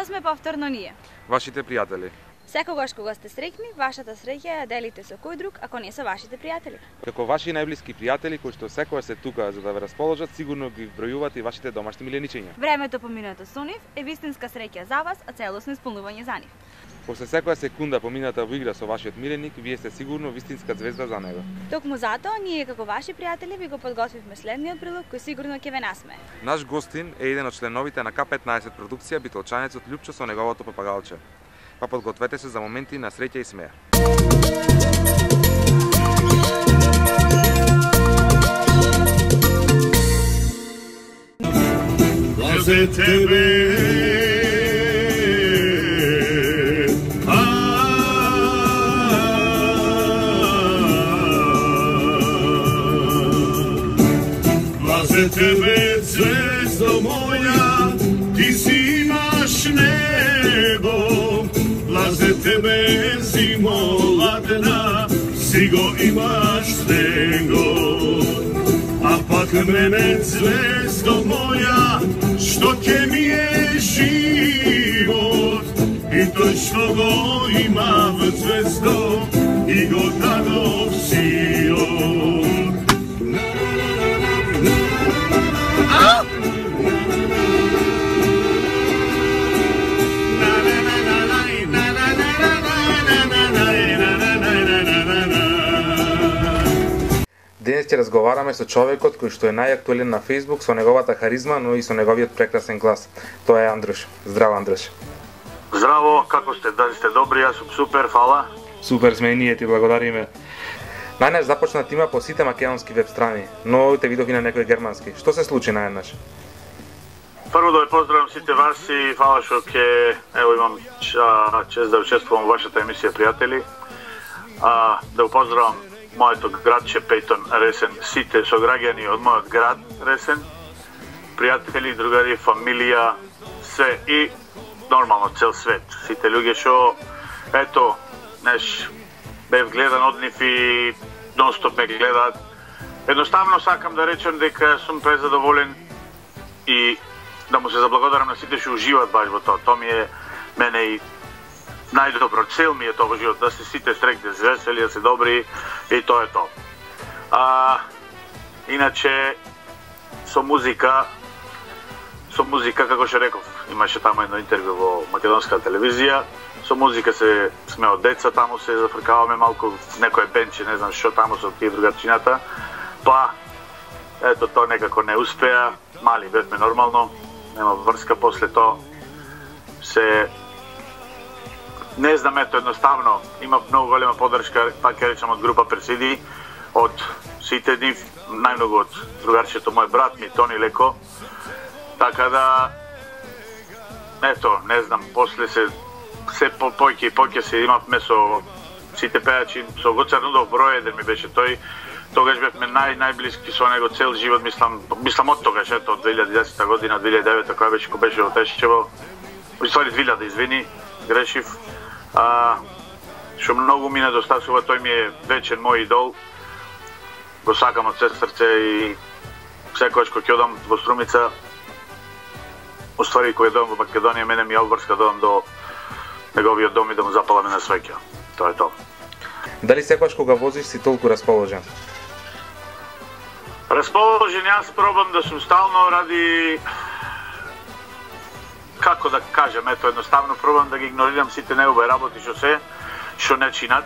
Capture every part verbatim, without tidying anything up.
Тоа сме повторно ние. Вашите пријатели. Секогаш кога сте среќни, вашата среќа ја делите со кој друг, ако не со вашите пријатели. Како ваши најблиски пријатели кои што секогаш се тука за да ве расположат, сигурно ги вбројуваат и вашите домашни миленичиња. Времето поминато со нив е вистинска среќа за вас, а целосно исполнување за нив. После секоја секунда помината во игра со вашиот миленик, вие сте сигурно вистинска звезда за него. Токму затоа, ние како ваши пријатели ви го подготвивме следниот прилог кој сигурно ќе ве насмее. Наш гостин е еден од членовите на К петнаесет продукција, битолчанецот Љупчо со неговото папагалче. Па подгответе се за моменти на среќа и смеа. За тебе за тебе, звездо моја, ти си имаш небо, за тебе зимо ладна, си го имаш него. А пак мене, звездо моја, што ќе ми е живот, и тој што го има в звездо, и го дадов сиот. Денес ќе разговараме со човекот кој што е најактуелен на Facebook со неговата харизма, но и со неговиот прекрасен глас. Тоа е Андрош. Здраво, Андрош. Здраво, како сте? Дали сте добри? Јас сум супер, фала. Супер сме и ние, ти благодариме. Најнаш започна тима по сите македонски веб страни, но те видов и на некои германски. Што се случи најнаш? Прво да ве поздравам сите вас и фала што ќе ево имам чест да учествувам во вашата емисија, пријатели. А, да го поздравам моето градче Пејтон Ресен, сите сограѓани од мојот град Ресен, пријатели, другари, фамилија, све и нормално цел свет. Сите луѓе што ето, неш, бев гледан од нив и нонстоп ме гледаат. Едноставно сакам да речем дека сум презадоволен и да му се заблагодарам на сите што уживаат баш во тоа. Тоа ми е мене и најдобро, цел ми е тоа во живот, да се сите среќни, весели, да се добри и тоа е тоа. А, иначе, со музика, со музика, како што реков, имаше таму едно интервју во македонска телевизија, со музика се сме од деца, таму се зафркаваме малку, некој бенче, не знам што таму со тие другарчината, па, ето тоа некако не успеа, мали бевме нормално, нема врска после тоа, се не знам, ето едноставно, има многу голема поддршка, пак ќе речам, од група Персиди, од сите нив, најмногу од другарчето мој брат ми, Тони Леко, така да, ето, не знам, после се, се по појке и појке се имавме со сите пејачи, со Гоце Арнудов број еден ми беше тој, тогаш бевме нај, најблиски со него цел живот, мислам, мислам од тогаш, ето, од две илјади и десета година, две илјади и девета, која беше, кој беше во Тешчево, во ствари две илјади, извини, грешив, а, што многу ми недостасува, тој ми е вечен мој идол, го сакам од се срце и секојаш кој ќе одам во Струмица, уствари кој одам во Македонија, мене ми е обврска да одам до неговиот дом и да му запаламе на свеќа. Тоа е тоа. Дали секогаш кога возиш си толку расположен? Расположен, јас пробам да сум стално ради, како да кажам, ето едноставно пробам да ги игнорирам сите неубави работи што се, што не чинат.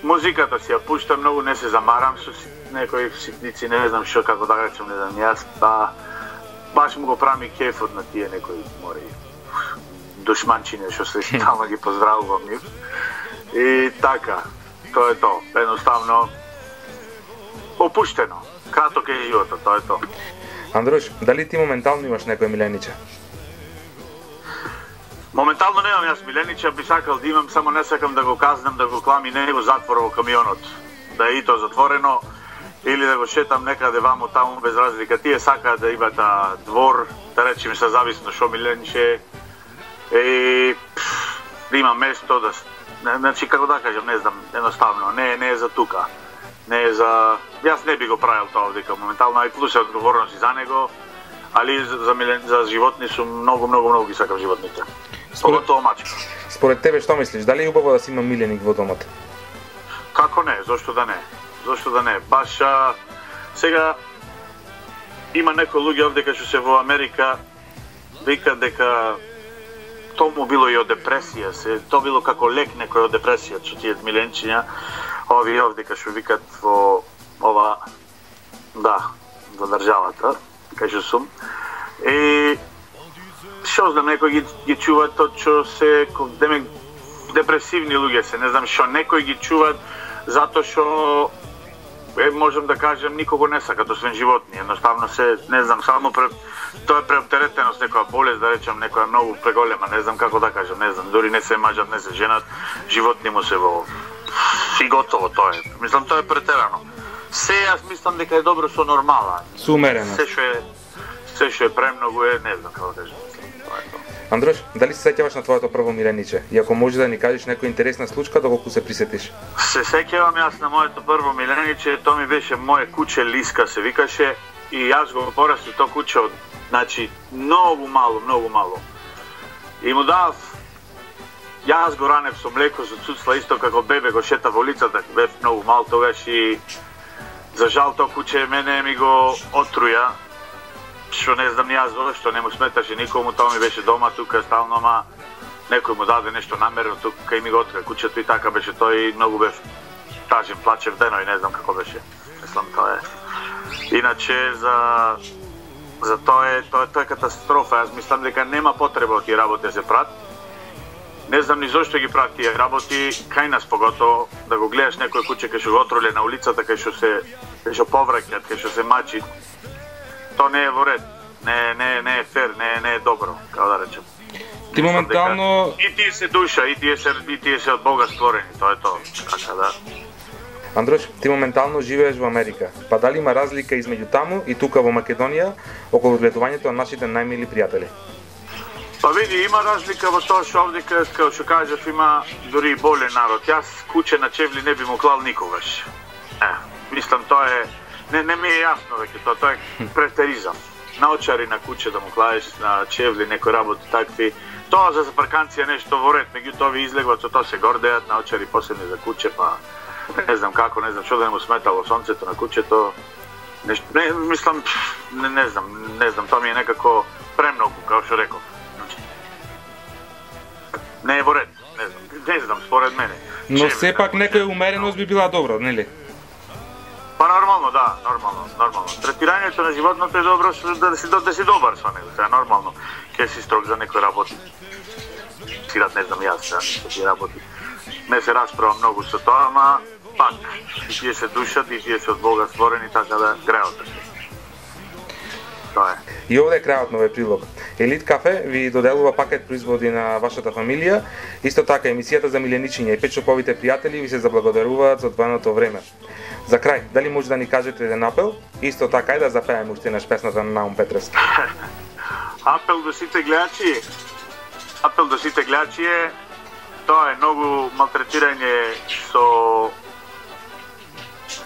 Музиката си ја пуштам многу, не се замарам со некои ситници, не знам што, како да речем, не знам јас, па баш му го правам и кефот на тие некои мори душманчине што се тamo ги поздравувам нив. И така, тоа е тоа, едноставно опуштено, краток е животот, тоа е тоа. Андрош, дали ти моментално имаш некој милениче? Моментално немам јас милениче, би сакал да имам, само не сакам да го казнам, да го клами него затвор во камионот. Да е и тоа затворено, или да го шетам некаде вамо таму без разлика. Тие сакаат да имат двор, да речеме се зависно што милениче, и да има место, да, значи како да кажам, не знам, едноставно, не, не е за тука. Не е за... Јас не би го правил тоа дека моментално, ај плюс е одговорност и за него, али за, милен, за животни сум многу, многу, многу ги сакам животните. Според, Поготово мачка. според тебе што мислиш, дали е убаво да си има миленик во домот? Како не, зошто да не? Зошто да не? Баш а, сега има некои луѓе овде кај што се во Америка вика дека тому било и од депресија, се то било како лек некој од депресија, што тие миленчиња, ови овде кај што викат во ова да, во државата, кај што сум. И што знам, некој ги, ги чува тоа што се демек депресивни луѓе се, не знам што, некој ги чуваат затоа што е, можам да кажем, никого не сакат освен животни, едноставно се, не знам, само пре, тоа е преоптеретеност, некоја болест, да речем, некоја многу преголема, не знам како да кажем, не знам, дури не се мажат, не се женат, животни му се во... и готово тоа е. Мислам, тоа е претерано. Се, јас мислам дека е добро со нормала. Сумерено. Се што е, се што е премногу е, не знам како да кажем, мислам, тоа е тоа. Андрош, дали се сеќаваш на твоето прво милениче? И ако може да ни кажеш некоја интересна случка, доколку се присетиш? Се сеќавам јас на моето прво милениче, тоа ми беше моје куче Лиска се викаше и јас го порасти тоа куче од, значи, многу мало, многу мало. И му дав, јас го ранев со млеко, со цуцла, исто како бебе го шета во улицата, бев многу мал тогаш и за жал тоа куче мене ми го отруја, што не знам јас зашто, не му сметаше никому, тоа ми беше дома тука стално, ама некој му даде нешто намерено тука и ми го отруја кучето и така беше тоа и многу бев тажен, плачев дено и не знам како беше. Мислам тоа е. Иначе за за тоа е тоа, тоа е катастрофа. Јас мислам дека нема потреба од тие работи да се прат. Не знам ни зошто ги прат тие работи, кај нас поготово да го гледаш некој куче кај што го отруле на улицата, кај што се кај што повраќаат, кај што се мачи. Тоа не е во ред. Не не не е фер, не не е добро, како да речем. Ти моментално дека... и тие се душа, и тие се и тие се од Бога створени, тоа е тоа. Така да. Андрош, ти моментално живееш во Америка. Па дали има разлика измеѓу таму и тука во Македонија околу гледувањето на нашите најмили пријатели? Па види, има разлика во тоа што овде, како што кажав, има дури и болен народ. Јас куче на чевли не би му клал никогаш. Е, мислам, тоа е... Не, не ми е јасно веќе тоа, тоа е претеризам. Наочари на куче да му клаеш, на чевли, некои работи такви. Тоа за запарканција нешто во ред, меѓутоа ви излегуваат, со тоа се гордеат, наочари посебни за куче, па... Не знам како, не знам што да не му сметало сонцето на кучето. Нешто, не, мислам, не, не знам, не знам, тоа ми е некако премногу, како што реков. Не е во ред, не знам, не знам, според мене. Но сепак некоја умереност би била добро, нели? Па нормално, да, нормално, нормално. Третирањето на животното е добро да си да си добар со него, тоа е нормално. Ке си строг за некои работи. Сират не знам јас, да, некои работи. Не се расправа многу со тоа, ама пак и тие се душат и тие се од Бога створени, така да греот. Тоа е. И овде е крајот на овој прилог. Елит Кафе ви доделува пакет производи на вашата фамилија. Исто така емисијата за миленичиња и петшоповите пријатели ви се заблагодаруваат за одвоеното време. За крај, дали може да ни кажете еден апел? Исто така и да запееме уште еднаш песната на Наум Петревски. Апел до сите гледачи. Апел до сите гледачи е тоа е многу малтретирање со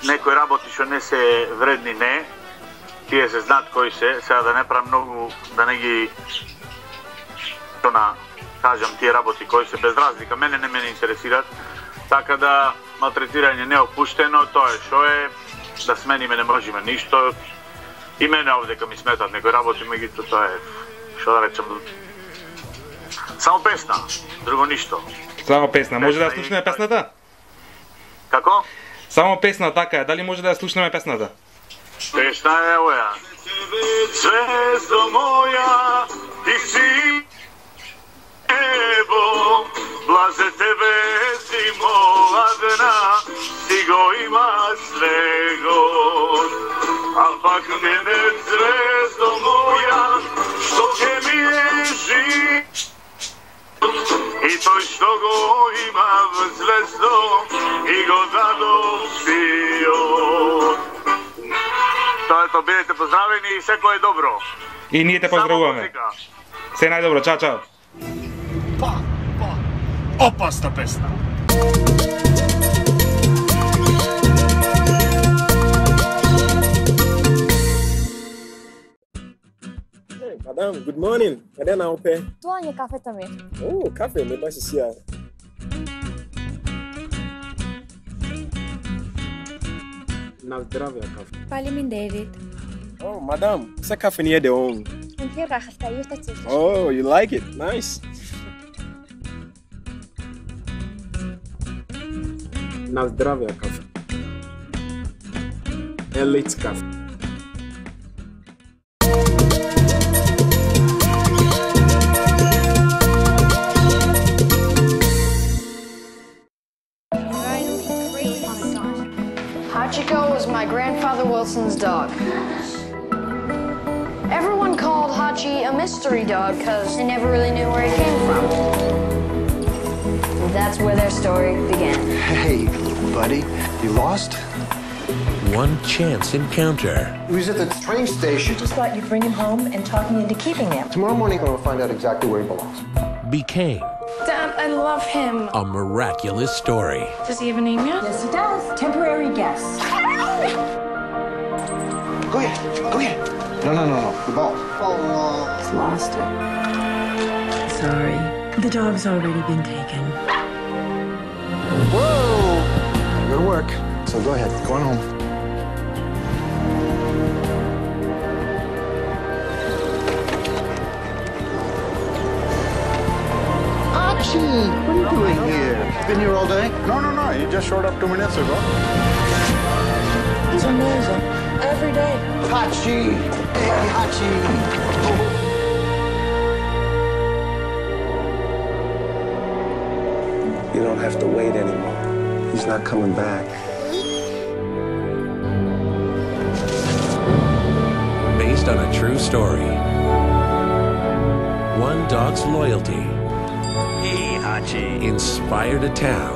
некои работи што не се вредни, не. Тие се знаат кои се, сега да не правам многу, да не ги што на, кажам, тие работи кои се без разлика, мене не мене интересираат, така да малтретирање не опуштено, тоа е што е, да смениме не можеме ништо, и мене овдека ми сметат некои работи, меѓутоа тоа е, што да речем, само песна, друго ништо. Само песна, може да ја слушнеме песната? Како? Само песна, така е, дали може да ја слушнеме песната? Песна е оја. Звездо моја, ти си небо, блазе тебе зимо ладна, ти го имаш него. А пак мене звездо моја, што ќе ми е жив, и тој што го има в звездо, и го дадов сиот. Тоа е тоа, бидете поздравени и секој е добро. И ние те поздравуваме. Се најдобро, чао, чао. Па, па, опасна песна. Madam, good morning. Каде наопе? Тоа не е кафето ми. О, кафе, не баш си ја. На здравје кафе. Пали ми David. Oh, madam, essa cafeteria de on. Een keer daar gestaan, je staat zo. Oh, you like it? Nice. На здравје кафе. Elite кафе. Hachiko was my grandfather Wilson's dog. Everyone called Hachi a mystery dog because they never really knew where he came from. And that's where their story began. Hey, buddy, you lost? One chance encounter. He was at the train station. Just thought you'd bring him home and talk me into keeping him. Tomorrow morning, I'm going to find out exactly where he belongs. Became Dad, I love him. a miraculous story. Does he have a name yet? Yes, he does. Temporary guest. Go ahead, go ahead. No, no, no, no, the ball. Oh, no. He's lost it. Sorry. The dog's already been taken. Whoa! Good work. So go ahead, go on home. Archie, what are you doing here? Been here all day? No, no, no. He just showed up two minutes ago. He's amazing. Every day. Hachi! Hey, Hachi! You don't have to wait anymore. He's not coming back. Based on a true story. One dog's loyalty Hey, Hachi. inspired a town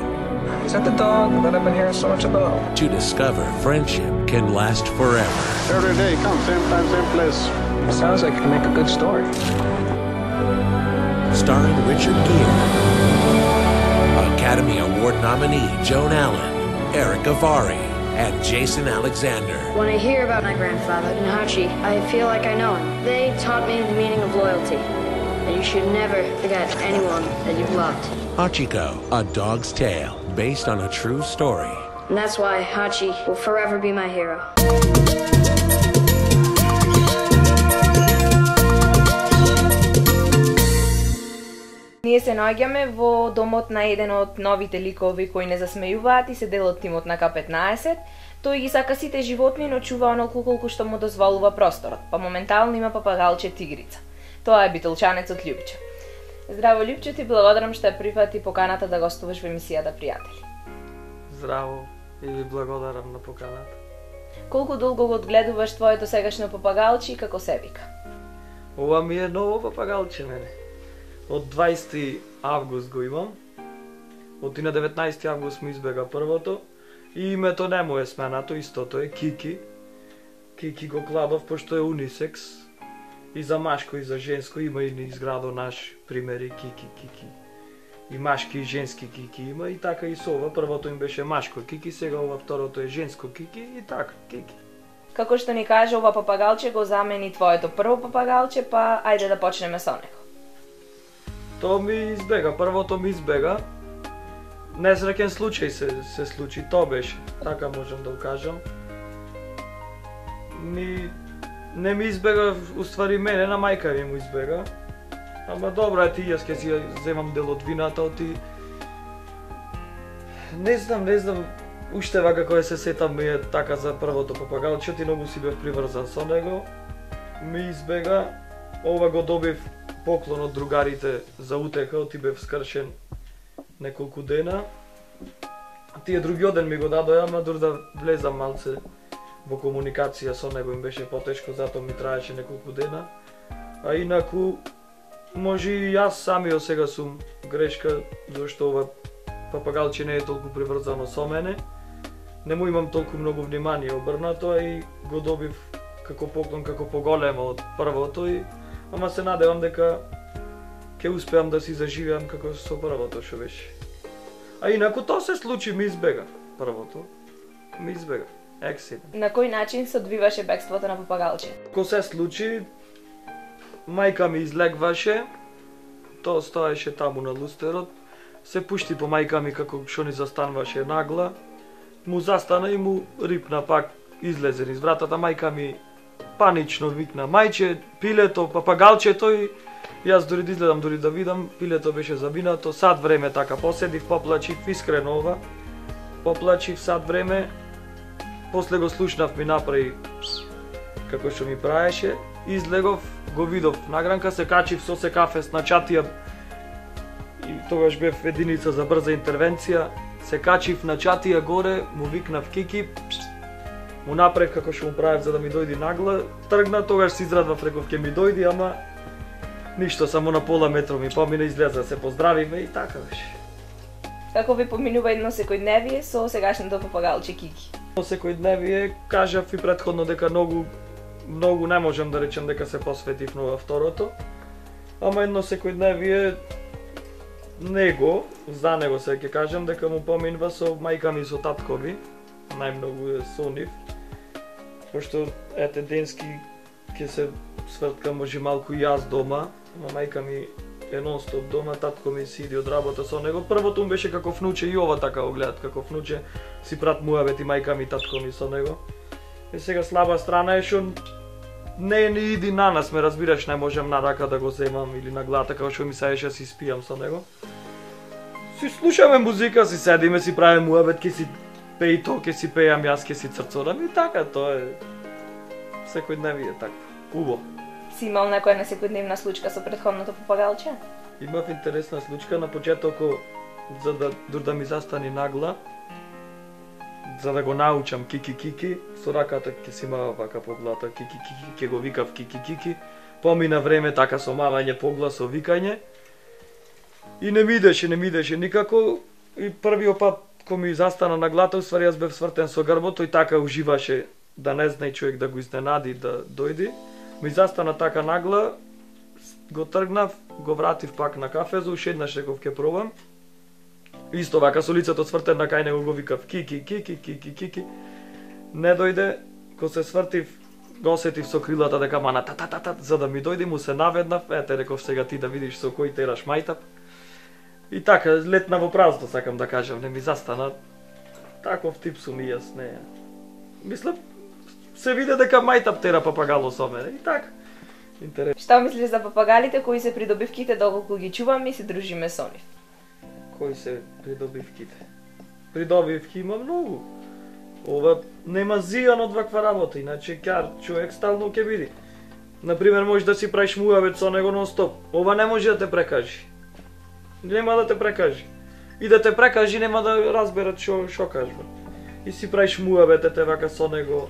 Is that the dog that I've been hearing so much about? to discover friendship can last forever. Every day, come, same time, same place. Sounds like it could make a good story. Starring Richard Gere, Academy Award nominee Joan Allen, Eric Avari, and Jason Alexander. When I hear about my grandfather and Hachi, I feel like I know him. They taught me the meaning of loyalty. That you should never forget anyone that you've loved. Hachiko, A Dog's Tale, based on a true story. And that's why Hachi will forever be my hero. Ние се наоѓаме во домот на еден од новите ликови кои не засмејуваат и се дел од тимот на К петнаесет. Тој ги сака сите животни, но чува онолку колку што му дозволува просторот, па моментално има папагалче тигрица. Тоа е битолчанецот Љупче. Здраво, Љупче, ти благодарам што ја прифати поканата да гостуваш во емисијата Пријатели. Здраво и ви благодарам на поканата. Колку долго го одгледуваш твоето сегашно папагалче и како се вика? Ова ми е ново папагалче мене. Од дваесети август го имам. Од и на деветнаесети август му избега првото. И името не му е сменато, истото е Кики. Кики го кладов пошто е унисекс. И за машко и за женско има и изградо наш примери Кики, Кики. И машки и женски Кики има и така и со ова. Првото им беше машко Кики, сега ова второто е женско Кики и така, Кики. Како што ни кажа, ова папагалче го замени твоето прво папагалче, па ајде да почнеме со него. Тоа ми избега, првото ми избега. Несреќен случај се, се случи, тоа беше, така можам да го кажам. Ми... Не ми избега, уствари мене, на мајка ми му избега. Ама добро е ти, јас ке си земам дел од вината, оти... Не знам, не знам, уштева како е се сетам ми е така за првото папагалче, ти многу си бев приврзан со него. Ми избега, ова го добив поклон од другарите за утеха, оти бев скршен неколку дена. Тие другиот ден ми го дадоја, ама дур да влезам малце во комуникација со него им беше потешко, затоа ми траеше неколку дена. А инаку, може и јас самиот сега сум грешка, зашто ова папагалче не е толку приврзано со мене. Не му имам толку многу внимание обрнато, а и го добив како поклон, како поголемо од првото, и... ама се надевам дека ќе успеам да си заживеам како со првото што беше. А инаку тоа се случи, ми избега. Првото ми избега. Ексидент. На кој начин се одвиваше бегството на папагалче? Ко се случи, мајка ми излегваше, тоа стоеше таму на лустерот, се пушти по мајка ми како што ни застанваше нагла, му застана и му рипна пак, излезе низ вратата, мајка ми панично викна, мајче, пилето, папагалчето и јас дори да изгледам, дори да видам, пилето беше завинато, сад време така поседив, поплачив, искрено ова, поплачив сад време, после го слушнав ми направи како што ми правеше, излегов, го видов награнка, се качив со се кафес на чатија и тогаш бев единица за брза интервенција, се качив на чатија горе, му викнав Кики, му направив како што му правев за да ми дојди нагла, тргна, тогаш се израдвав, реков ќе ми дојди, ама ништо, само на пола метро ми помина, излеза, се поздравиме и така беше. Како ви поминува едно секојдневие со сегашното папагалче Кики? Во секојдневие кажав и претходно дека многу многу не можам да речем дека се посветив на второто, ама едно секојдневие него, за него се ќе кажам дека му поминува со мајка ми и со татко ми, најмногу е со нив, пошто ете денски ќе се сврткам може малку и јас дома, ама мајка ми е нон-стоп дома, татко ми си иди од работа со него. Првото му беше како внуче и ова така го гледат, како внуче си прат муабети мајка ми и татко ми со него. И сега слаба страна е што не ни иди на нас, ме разбираш, не можам на рака да го земам или на глата, како што ми саеше си спијам со него. Си слушаме музика, си седиме, си правиме муабет, ке си пеи то, ке си пејам јас, ке си црцорам и така, тоа е секојдневие така. Убаво. Си имал некоја на секојдневна случка со претходното папагалче? Имав интересна случка на почетоко, за да дур да ми застани нагла, за да го научам Кики Кики, со раката ќе си мава вака по глата, Кики Кики, ќе го викав Кики Кики, помина време така со мавање по глас, со викање, и не ми идеше, не ми идеше никако, и првиот пат кој ми застана на глата, уствари јас бев свртен со грбот, тој така уживаше да не знае човек да го изненади, да дојди, ми застана така нагла, го тргнав, го вратив пак на кафезу, уште еднаш реков ќе пробам. Исто вака со лицето свртено кај него го викав Кики, Кики, Кики, Кики. Не дојде, кога се свртив, го осетив со крилата дека мана та та та та, за да ми дојде му се наведнав, ете реков сега ти да видиш со кој тераш мајтап. И така, летна во празно, сакам да кажам, не ми застана. Таков тип сум и јас, не. Мислам, се виде дека мајтап тера папагало со мене, и така. Интересно. Што мислиш за папагалите кои се придобивките доколку ги чуваме и се дружиме со нив? Кои се придобивките? Придобивки има многу. Ова нема зијан од ваква работа, иначе кјар човек стално ќе биде. Например, можеш да си правиш муабет со него нон-стоп. Ова не може да те прекажи. Нема да те прекажи. И да те прекажи нема да разберат што што кажува. И си правиш муабет ете вака со него.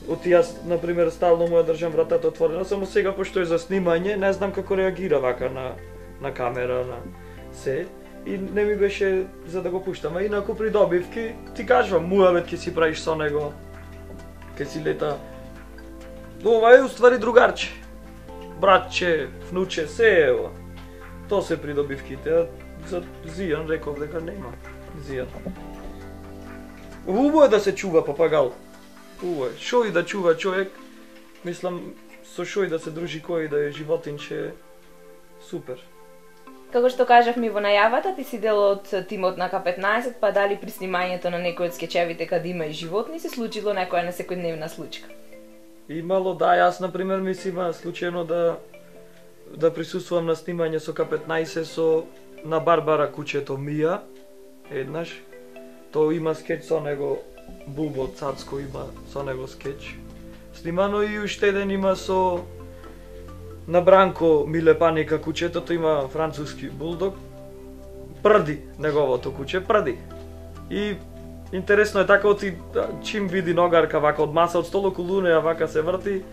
Оти јас, например, стално му ја држам вратата отворена, само сега пошто е за снимање, не знам како реагира вака на на камера, на се. И не ми беше за да го пуштам, а инаку придобивки, ти кажувам, муабет ќе си правиш со него, ќе си лета. Ова е уствари другарче, братче, внуче, се е ова. Тоа се придобивките, а за зијан реков дека нема зијан. Убаво е да се чува папагал. Убаво е. Шо и да чува човек, мислам, со шо и да се дружи кој да е животинче, супер. Како што кажавме во најавата, ти си дел од тимот на К петнаесет, па дали при снимањето на некој од скечевите каде има и животни се случило некоја несекојдневна случка? Имало, да, јас например мислима случајно да да присуствувам на снимање со К петнаесет со на Барбара кучето Мија, еднаш. Тоа има скеч со него, Бубо Цацко има со него скеч. Снимано и уште еден има со на Бранко Милепаника кучетото, има француски булдог. Прди неговото куче, прди. И интересно е така, оти чим види ногарка вака од маса, од стол околу неја вака се врти,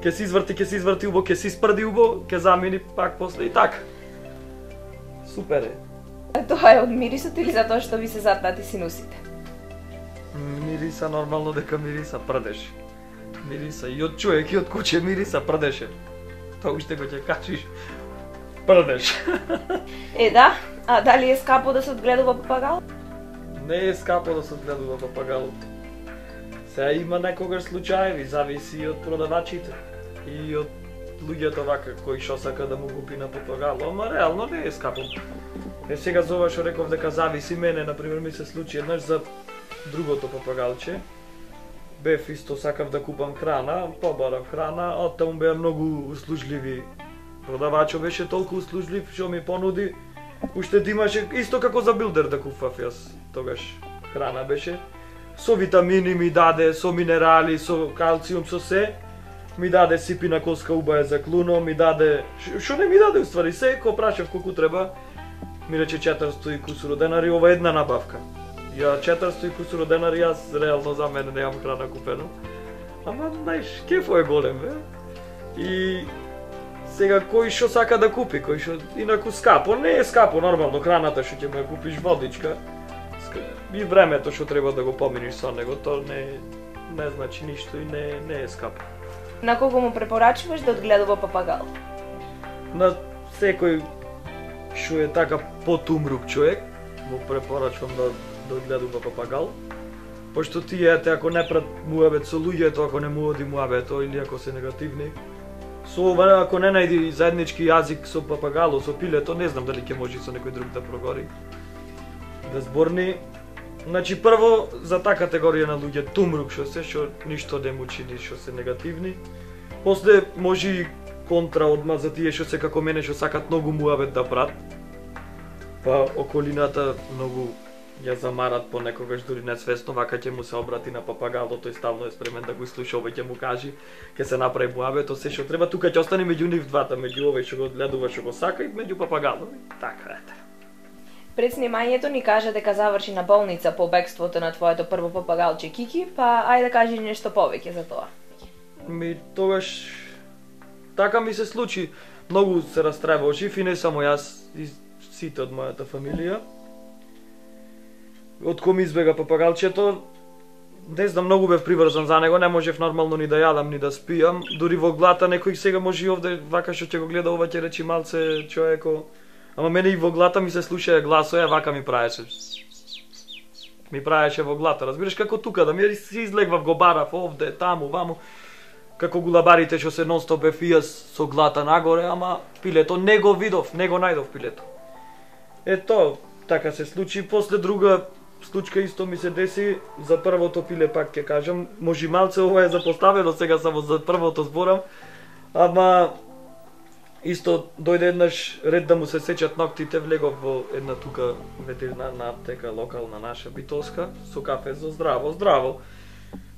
ке се изврти, ке се изврти убо, ке се испрди убо, ке замени пак после и така. Супер е. Тоа е од мирисот или затоа што ви се затнати синусите? Мириса нормално дека мириса прдеш. Мириса и од човек и од куче мириса прдеше. Тоа уште го ќе качиш. Прдеш. Е, да. А дали е скапо да се одгледува папагал? Не е скапо да се одгледува папагал. Сега има некогаш случаеви, зависи и од продавачите и од луѓето вака кои што сака да му купи на папагало, ама реално не е скапо. Е сега за ова што реков дека зависи мене, например ми се случи еднаш за другото папагалче. Бев исто сакав да купам храна, побарав храна, а таму беа многу услужливи. Продавачот беше толку услужлив што ми понуди, уште да имаше исто како за билдер да купав јас тогаш храна беше. Со витамини ми даде, со минерали, со калциум, со се. Ми даде сипина коска убаја за клуно, ми даде... Шо не ми даде уствари, се, ко прашав колку треба. Ми рече четиристо и кусуро денари, ова е една набавка. Ја четиристо и кусуро денари, јас реално за мене немам храна купено. Ама, знаеш, кефо е голем, бе. И... Сега, кој шо сака да купи, кој шо... Инаку скапо, не е скапо, нормално, храната што ќе ме купиш, водичка. И времето што треба да го поминиш со него, то не, не значи ништо и не, не е скапо. На кого му препорачуваш да одгледува папагал? На секој што е така потумрук човек, му препорачувам да, да одгледува папагал. Пошто тие, ако не прат муабет со луѓето, ако не му оди муабето или ако се негативни, со ова, ако не најди заеднички јазик со папагало, со пилето, не знам дали ќе може со некој друг да прогори, да зборни. Значи, прво, за таа категорија на луѓе тумрук што се, што ништо не му чини, што се негативни. После, може и контра одма за тие што се како мене, што сакат многу муабет да прат. Па околината многу ја замарат понекогаш, дури несвесно, вака ќе му се обрати на папагало, тој ставно е спремен да го слуша, овој ќе му кажи, ќе се направи муабет, то се што треба, тука ќе остане меѓу нив двата, меѓу овој што го гледува, што го сака и меѓу папагало. Така ете. Пред снимањето ни кажа дека заврши на болница по бегството на твоето прво папагалче Кики, па ајде да кажи нешто повеќе за тоа. Ми тогаш така ми се случи, многу се растревожив и не само јас, и сите од мојата фамилија. Од ком избега папагалчето, не знам, многу бев приврзан за него, не можев нормално ни да јадам, ни да спијам, дури во глата некој сега може и овде, вака што ќе го гледа ова ќе речи малце човеко. Ама мене и во глата ми се слушаја гласоја, вака ми праеше. Ми праеше во глата, разбираш како тука, да ми си излегвав, го барав овде, таму, ваму. Како гулабарите што се нон-стоп бев и јас со глата нагоре, ама пилето не го видов, не го најдов пилето. Ето, така се случи. После друга случка исто ми се деси, за првото пиле пак ќе кажам, може малце ова е запоставено, сега само за првото зборам, ама... Исто дојде еднаш ред да му се сечат ноктите, влегов во една тука ветеринарна аптека, локална наша, битолска, со кафе за здраво, здраво.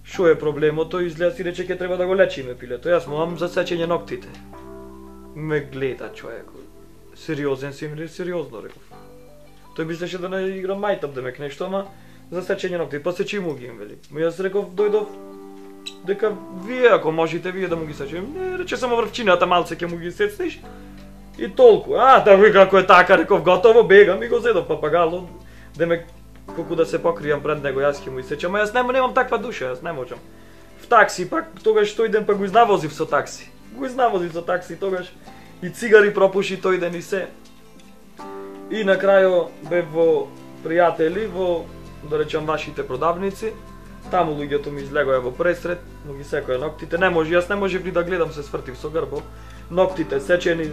Шо е проблемото? Изгледа си рече ќе треба да го лечиме пилето. Јас му имам за сечење ноктите. Ме гледа човек. Сериозен си ми, сериозно реков. Тој мислеше да не играм мајтап да ме нешто, ама за сечење нокти. Посечи му ги им вели. Јас реков дојдов дека вие ако можете вие да му ги сечем. Не, рече само врвчината малце ќе му ги сецнеш. И толку. А, да ви како е така, реков готово, бегам и го зедов папагало. Да ме колку да се покријам пред него, јас ќе му исечам, а јас нема, немам таква душа, јас не можам. В такси пак тогаш тој ден па го изнавозив со такси. Го изнавозив со такси тогаш и цигари пропуши тој ден и се. И на крајо бев во пријатели, во да речам вашите продавници. Таму луѓето ми излегоја во пресред, му ги секоја ноктите. Не може, јас не можев ни да гледам, се свртив со грбо. Ноктите сечени,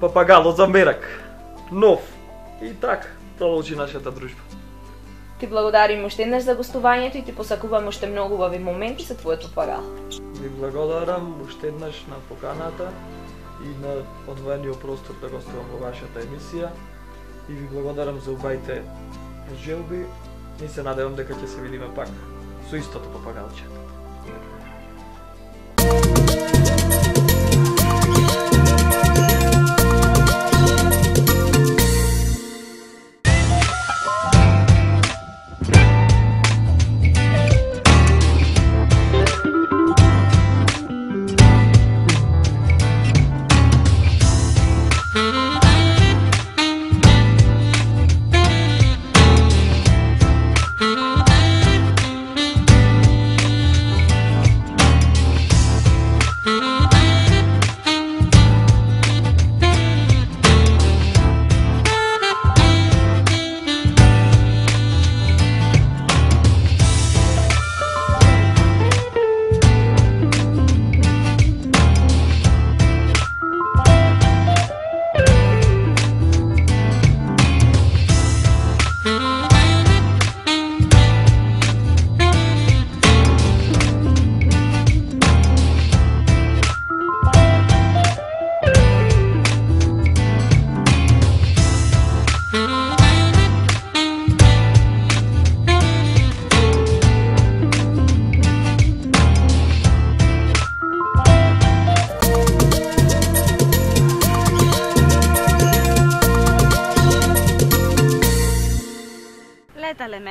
папагало за мерак, нов. И така, продолжи нашата дружба. Ти благодарим уште еднаш за гостувањето и ти посакувам уште многу убави моменти со твојот папагал. Ви благодарам уште еднаш на поканата и на одвоениот простор да гостувам во вашата емисија. И ви благодарам за убавите желби. И се надевам дека ќе се видиме пак со истото папагалче.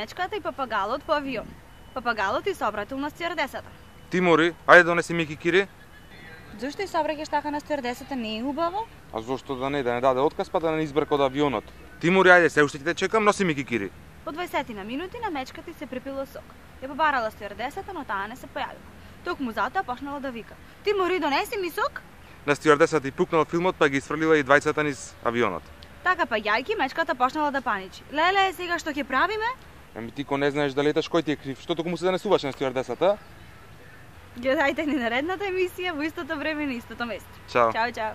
мечката и папагалот по авион. Папагалот и се обратил на стюардесата. Тимури, ајде донеси ми кикири. Зошто и се обраќаш така на стюардесата, не е убаво? А зошто да не, да не даде отказ па да не избрка од авионот. Тимури, ајде, се уште ќе те чекам, носи ми кикири. По дваесет на минути на мечката и се препило сок. Ја побарала стюардесата, но таа не се појавила. Токму затоа почнала да вика: "Тимури, донеси ми сок?" На стюардесата и пукнал филмот, па ги исфрлила и двајцата низ авионот. Така па јајки мечката почнала да паничи. Леле, сега што ќе правиме? Ами ти ко не знаеш да леташ, кој ти е крив? Што токму се занесуваш на стюардесата? Гледајте ни наредната емисија во истото време на истото место. Чао. Чао, чао.